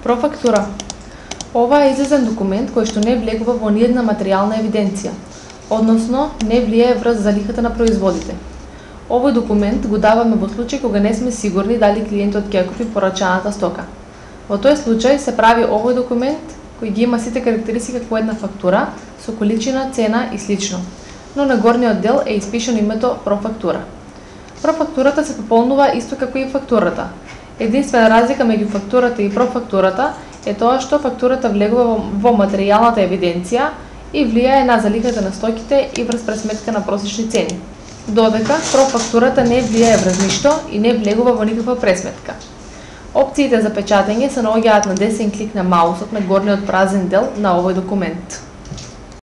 Профактура. Ова е излезен документ кој што не влегува во ниедна материјална евиденција, односно не влијае врз залихата на производите. Овој документ го даваме во случај кога не сме сигурни дали клиентот ќе ја купи порачаната стока. Во тој случај се прави овој документ кој ги има сите карактеристики како една фактура со количина, цена и слично, но на горниот дел е испишано името профактура. Профактурата се пополнува исто како и фактурата. Единствена разлика меѓу фактурата и профактурата е тоа што фактурата влегува во материјалната евиденција и влијае на залихата на стоките и врз пресметка на просечни цени, додека профактурата не влијае врз ништо и не влегува во никаква пресметка. Опциите за печатење се наоѓаат на десен клик на маусот на горниот празен дел на овој документ.